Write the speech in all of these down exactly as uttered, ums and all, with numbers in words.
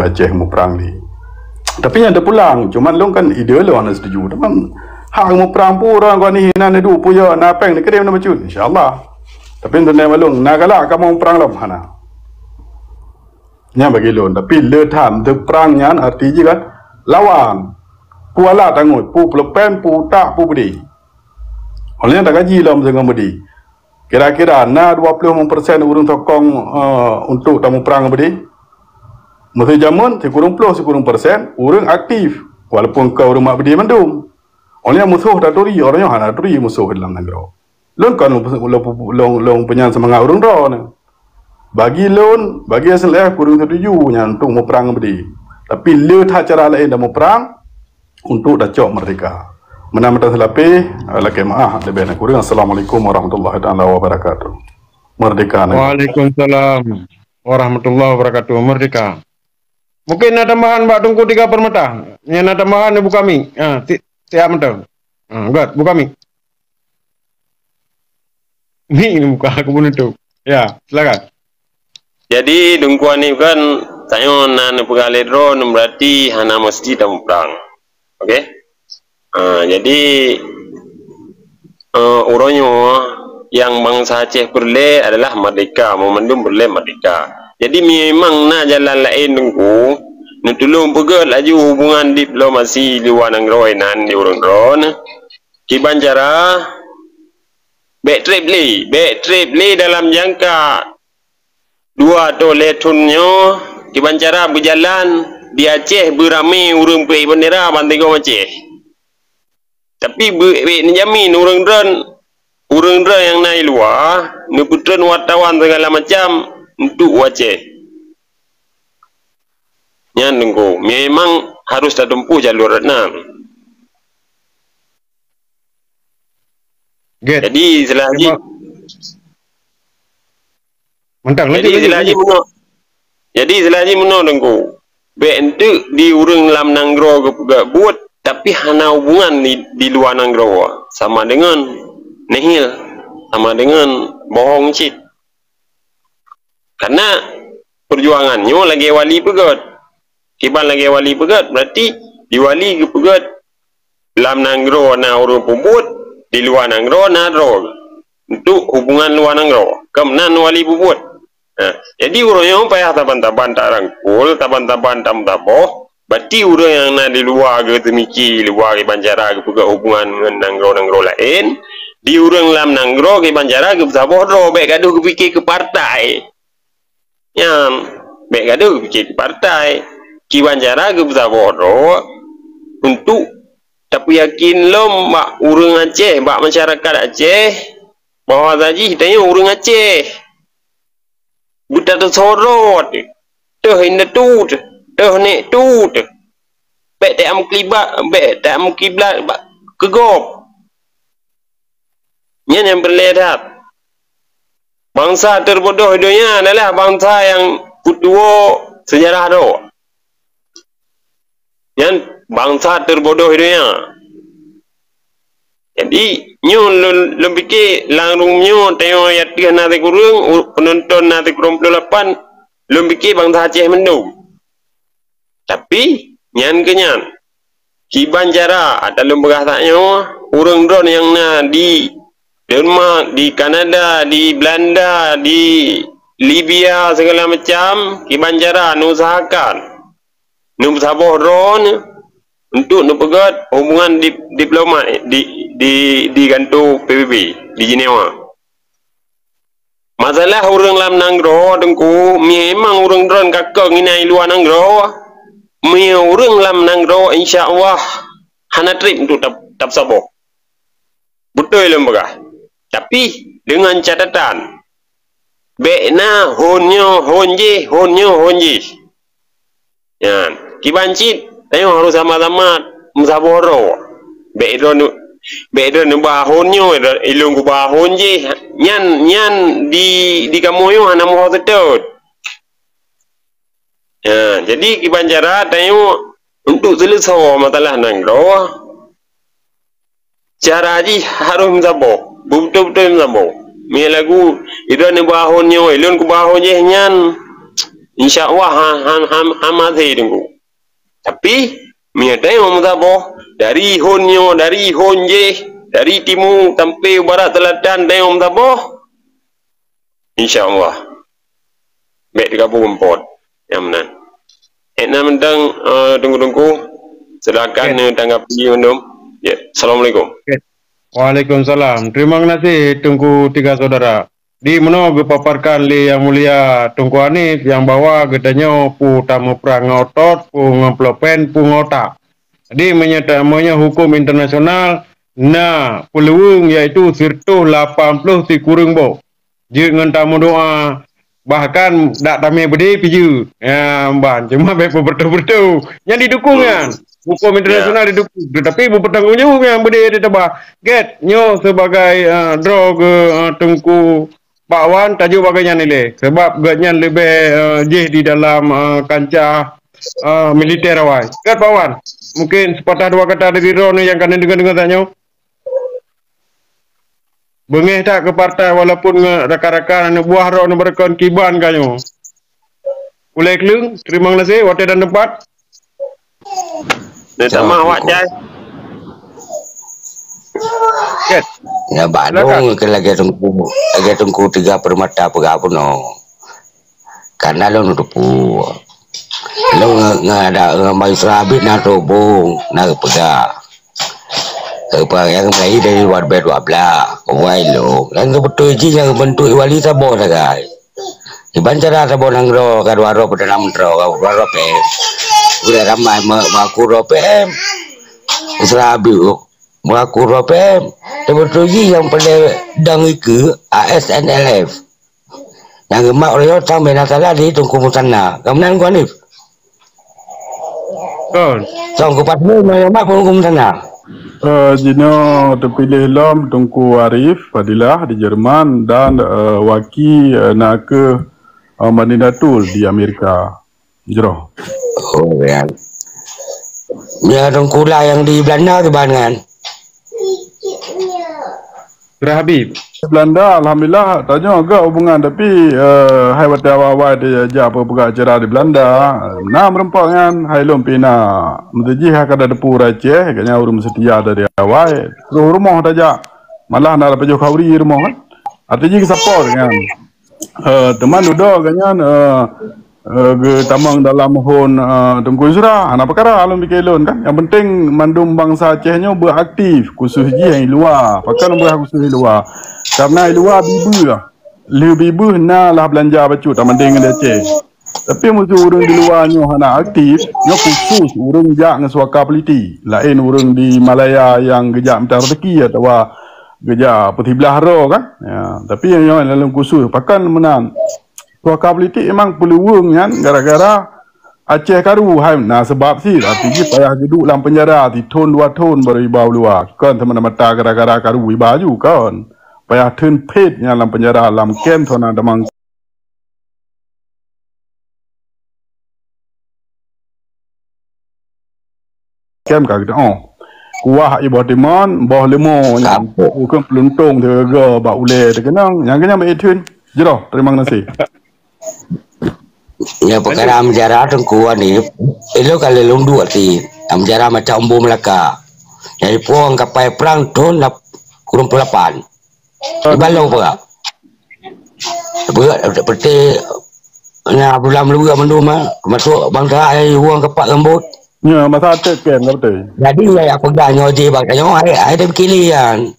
Aceh muprang lé. Tapi nyan teupulang, cuman lôn kan ide lôn hana setuju. Teuma hak muprang pun ureuëng keu aneuk na neuduek puya na péng neukirém na bacut, insya-Allah. Tapi untuk na balong na galak kamoe muprang lom hana. Nyan bagi lôn, tapi le that teuprang nyan arti jih kan lawan. Pu alat angut, pu pulpen, pu utak, pu beudé. Oleh nyan takaji lom deungon beudé. Kira-kira na dua puluh lima persen ureuëng sokong, eh, untuk tamuprang beudé. Meusi jameun sikureueng ploh sikureueng persen ureuëng aktif, walaupun ka ureuëng mak beudé mandum. Oleh nyan musoh taturi, ureuëng nyoe hana turi musoh dalam nanggroe. Lôn kon lôn, lôn, lôn, lôn peunyan seumangat ureuëng droe nyoe. Bagi lôn, bagi S L F kureueng setuju nyan untuk muprang beudé. Tapi le that cara laén dan muprang untuk tacok merdeka. Meunan mantong seulapeh, lakée meuáh leubeh dan kureueng. Assalamualaikum warahmatullahi taala wabarakatuh. Merdeka negara. Waalaikumsalam warahmatullahi wabarakatuh. Merdeka. Mungkin na tambahan bak Teungku Tiga Permata. Nyang na tambahan buka mic. Ha, si-, siap mantong. Ha, Gat, buka mic. Mic ni buka, aku pun nutup. Ya, silakan. Jadi, Teungku Hanif kan, tanyoe na neupeugah lé droe, berarti hana meusti tamuprang. Oke? Ha, jadi, eh, uroe nyoe nyang bansa Aceh peureulée adalah merdeka, meumandum peureulée merdeka. Jadi, memang na jalan laén Teungku, neutulông peugét laju hubungan diplomasi luwa nanggroe nan di ureuëng droe, kiban cara bék treb lé, bék treb lé dalam jangka dua atau lhée thon nyoe, kiban cara beujalan di Aceh beuramé ureuëng peuék bendera bansigom Aceh. Tapi beu-, bék neujamin ureuëng droe, ureuëng droe nyang na i luwa, neupeutreun wartawan segala macam untuk u Aceh. Nyan Teungku, memang harus tatempuh jalur nan. Gét. Jadi, istilah jih, Mantap, jadi, lanjut, istilah lanjut, jih lanjut. Meunoe. Jadi, istilah jih meunoe, Teungku. Bék enteuk di ureuëng lam nanggroe geupeugah buet, tapi hana hubungan di, di luwa nanggroe. Sama dengan nihil, sama dengan bohong cit. Karena perjuangan nyoe lagée wali peugét. Kiban lagée wali peugét, berarti di wali geupeugét lam nanggroe na ureuëng peubuet, di luwa nanggroe na droe. Untuk hubungan luwa nanggroe, kon nan wali peubuet. Nah, jadi uroe nyoe payah saban-saban tarangkul, saban-saban tameusaboh, berarti ureuëng nyang na di luwa geuteumiki, luwa kiban cara geupeugét hubungan ngon nanggroe-nanggroe laén, di ureuëng lam nanggroe kiban cara geupeusaboh droe, bék gadoh geupike keu partai. Nyan, bék gadoh geupike keu partai. Kiban cara geupeusaboh droe untuk tapeuyakin lom bak ureuëng Aceh, bak masyarakat Aceh, bahwa jih tanyoe ureuëng Aceh. Beutateusorot, teuh indatu, teuh nek tu, bék tameukiblat, bék tameukiblat bak keu gob. Nyan nyang peureulée that. Bansa terbodoh di donya adalah bansa nyang peutuwo seujarah droe. Nyan bansa terbodoh di donya. Jadi, nyoe lôn, lôn pike lam rueng nyoe, tanyoe nyang teuh na sikureueng, u-, peunonton na sikureueng ploh lapan, lôn pike bansa Aceh mandum. Tapi, nyan keu nyan. Kiban cara, ata lôn peugah that nyoe, ureuëng droe nyang na di Denmark, di Kanada, di Belanda, di Libya, segala macam, kiban cara neuusahakan, neupeusaboh droe untuk neupeugét hubungan dip-, diplomat di, di, di kantô P B B di Jenewa. Masalah ureuëng lam nanggroe, Teungku, memang ureuëng droe ka keu ngieng i luwa nanggroe, meunyoe ureuëng lam nanggroe, insya Allah, hana treb untuk tap-, tapeusaboh. Beutôi lôn peugah. Tapi, dengan catatan, bék na hon nyoe, hon jih, hon nyoe, hon jih. Nyan, kiban cit, tanyoe harôh sama-sama meusaboh droe. Bék droe nu-, bék droe neuba hon nyoe, ilôn kuba hon jih. Nyan, nyan di, di kamoe nyoe hana meuho seutôt. Nyan, jadi kiban cara tanyoe untuk seuleusoe masalah nanggroe, cara jih harôh meusaboh, beutôi-beutôi meusaboh. Meunyoe lagu, idroe neuba hon nyoe, ilôn kuba hon jih nyan, Insya Allah ha, ha, ha, ha maté Teungku. Tapi meunyoe tanyoe meusaboh dari hon nyoe, dari hon jih, dari timu sampai barat selatan tanyoe meusaboh, insya Allah bèk teugabung pot nyang meunan. Ék na mantong, eh, Teungku-teungku, silakan, eh, tanggapi mandum. Ya, assalamualaikum. Waalaikumsalam. Terima kasih Teungku Tiga Saudara. Di meunoe geupaparkan lé Yang Mulia Teungku Hanif nyang bahwa geutanyoe peue tameuprang ngon otot, peue ngon pulpen, peue ngon utak. Jadi meunyoe ta-, meunyoe huköm internasional na peuluweueng, yaitu siratoh lapan ploh sikureueng boh. Jeuet ngon tameudoa, bahkan dak tamé beudé pih jeuet. Ya, ban, cuma bèk peubeutôi-beutôi. Nyan didukung nyan. Huköm internasional didukung, tetapi beupeutanggong jaweueb nyan beudé teutabah. Gét, nyoe sebagai, eh, droe geu, eh, Teungku Pak Wan tajok bak gobnyan ilée, sabab gobnyan leubeh, eh, jih di dalam, eh, kancah, eh, militer awai. Kan Pak Wan? Mungkin sepatah dua kata dari droeneuh nyang ka neudeungoe-deungoe tanyoe. Beungéh that keu partai walaupun ngon rakan-rakan aneuk buah droeneuh beureukon kiban ka nyoe. Ulée kleueng, terima kasih, watée dan tempat. Dia tak mah awak cai. Yes. Ya, Silakan. Bandung ke lagèe Teungku, lagèe Teungku Tiga Permata peugah bunoe. Karena lôn teupeu. Lôn nge-, nge-, ada ngon Bang Yusra Habib na tobong, na geupeugah. Keupeugah nyang mulai dari dua ribu dua belas, wai lôn. Nyang geubeutôi jih nyang geubeuntuk wali saboh sagai. Iban cara saboh nanggroe ka dua droe Perdana Menteri, ka dua droe P M. Udah ramai me-, mengaku droe P M. Yusra Habib mengaku droe P M. Teubeutôi jih nyang paleng dang ikeue A S N L F. Nyang geumat uroe nyoe sang bina salah di Teungku Musanna. Ka meunan Teungku Hanif? Kon. Sang kupat lé nyang geumat Teungku Musanna. Eh, jinoe teupiléh lom Teungku Arif Fadilah di Jerman dan, eh, Waki, eh, na kheueh, eh, Madinatul di Amerika. Jroh. Oh, ya. Ya, Teungku lah nyang di Belanda kiban nyan. Kira Habib. Belanda, alhamdulillah, tanyoe agak hubungan, tapi, eh, hai watèe awai-awai tajak peugah acara di Belanda, na meureumpok nyan, hai lôn pih na. Meuteujih hai kada teupeu ureueng Aceh, gobnyan ureueng seutia dari awai. Terus rumoh tajak. Malah na pajoh khauri rumoh kan. Arti jih geusapor nyan. Eh, teuma dudoe gobnyan, eh, eh, geutamong dalam hon, eh, Teungku Yusra. Hana peukara lôn pike lôn kan. Nyang penting mandum bansa Aceh nyoe beuaktif, khusus jih nyang di luwa. Pakon beuaktif khusus di luwa? Karena di luwa bibeuh. Lheueh bibeuh na lah beulanja bacut tamandeng di Aceh. Tapi meuseu ureueng di luwa nyoe hana aktif, nyoe khusus ureueng jak ngon suaka politik. Laén ureueng di Malaya nyang geujak mita rezeki atawa geujak peusiblah droe kan. Ya, tapi nyang nyoe lam khusus. Pakon meunan? Suaka politik memang peuluweueng nyan gara-gara Aceh karu hai na seubab cit, arti jih payah geuduek lam peunjara sithon dua thon baru iba u luwa. Kon seumata-mata gara-gara karu iba aju, kon. Payah theun phét nyan lam peunjara, lam kem, hana tamong kem ka geutanyoe. Kuah ié boh timon, boh leumo nyan. Kapok. Bukon peuluntong teuga bak ulèe teukeunong. Nyang keunyan bak itheun. Jroh, terima kasih. Ya, peukara ameujara Teungku Hanif. Ilôn ka lôn duek ti. Ameujara macam Embu Melaka. Nyang ipueng kapai prang thon lap-, kureueng peuet lapan. Iban lôn peugah. Peugah, seperti na Abdullah Meuluwa mandum, ah, termasuk bansa ai wong keupak rambut. Ya, masa até kan, betul. Jadi, ya, ya, peugah nyoe jih bak tanyoe, hai, hai, dia berkili, kan.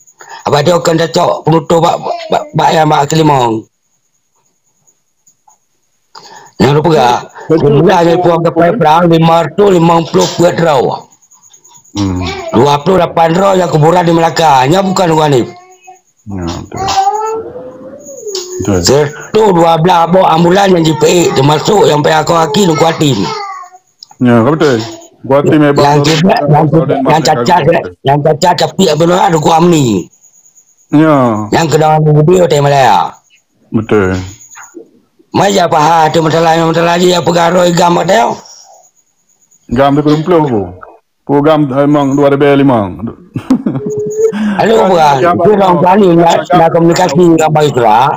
Apa dia akan cocok penutup bak, bak, bak yang bak Kelimong. Nyang lôn peugah, jumlah nyang ipueng kapai prang lima ratus limong puluh peuet droe. Hmm. Dua puluh lapan droe nyang kuburan di Melaka. Nyan bukon Teungku Hanif. Ya, betul. Betul. Seratus dua belas boh ambulan nyang jipeuék, teumasok nyang payah akoe aki Teungku Hatim. Ya, betul. Teungku Hatim hebat. Nyang cedera, nyang cedera, nyang cacat, nyang cacat tapi Abdullah Teungku Amni. Ya. Nyang keudong di Budi Hotel Malaya. Betul. Mai jak paha tu masalah, masalah jih ya peugah roh GAM pada. GAM tu puluh puluh bu. Pu GAM, eh, memang dua ribu lima. Lalu bukan, GAM tu orang tadi nak, nak komunikasi dengan Baik Surah.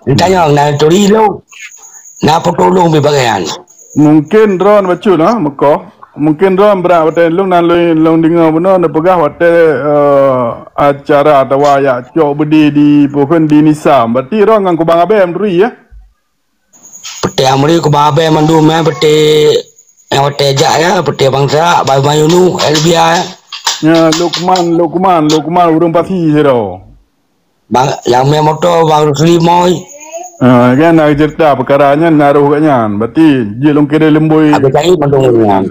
Ditanya nak turi lu. Na peutulông bak gobnyan. Mungken droen bacut, ha, meukoh. Mungken droen brat watèe lôn na lôn, lôn deungö bunoe neupeugah watèe, eh, acara atawa jak cok beudé di, peue kheun, di Nisam. Berarti droen ngon Kubang Abee meuturi, ya? Peuté Amri, Kubang Abee mandum, ya, peuté nyang watèe jak, ya, peuté bansa, Bang Mayunu, Elbia, ya. Ya, Lukman, Lukman, Lukman ureueng Pasi sidroe. Bang, nyang mè moto Bang Rusli Moi. Ah, kan, na cerita peukara nyan na roh gobnyan. Berarti jeuet lôn kirém leumbôi. Habéh cari mandum nyan.